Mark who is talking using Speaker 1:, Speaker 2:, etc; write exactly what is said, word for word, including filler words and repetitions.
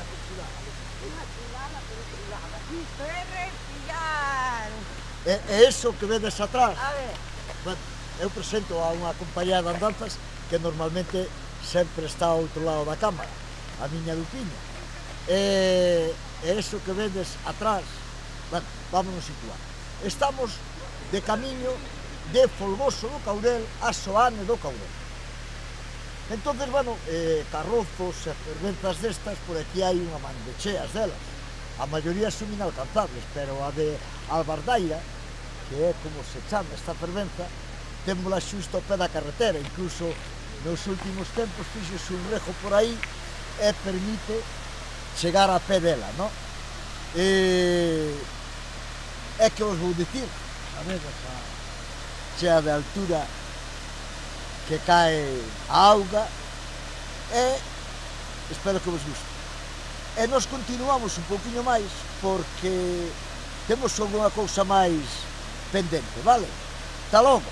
Speaker 1: a perfilada.
Speaker 2: Unha chulada, pero chulada. Isto é respirar.
Speaker 1: E, e eso que vedes atrás,
Speaker 2: A ver.
Speaker 1: bueno, eu presento a unha compañía de andanzas que normalmente sempre está ao outro lado da cámara, a miña Lupiña. E, e eso que vedes atrás, bueno, vámonos situar. Estamos de camiño de Folgoso do Caurel a Soane do Caurel. Entonces, bueno, eh, carrozos e fervenzas destas, por aquí hai unha man de cheas delas. A maioría son inalcanzables, pero a de Albardaira, que é como se chama esta fervenza, témola xusto ao pé da carretera, incluso nos últimos tempos fixose un rejo por aí e permite chegar a pé dela, non? E... é que vos vou dicir, sabedes, a chea de altura que cae a auga e espero que vos guste. E nos continuamos un pouquiño máis porque temos alguna cousa máis pendente, vale? Hasta logo!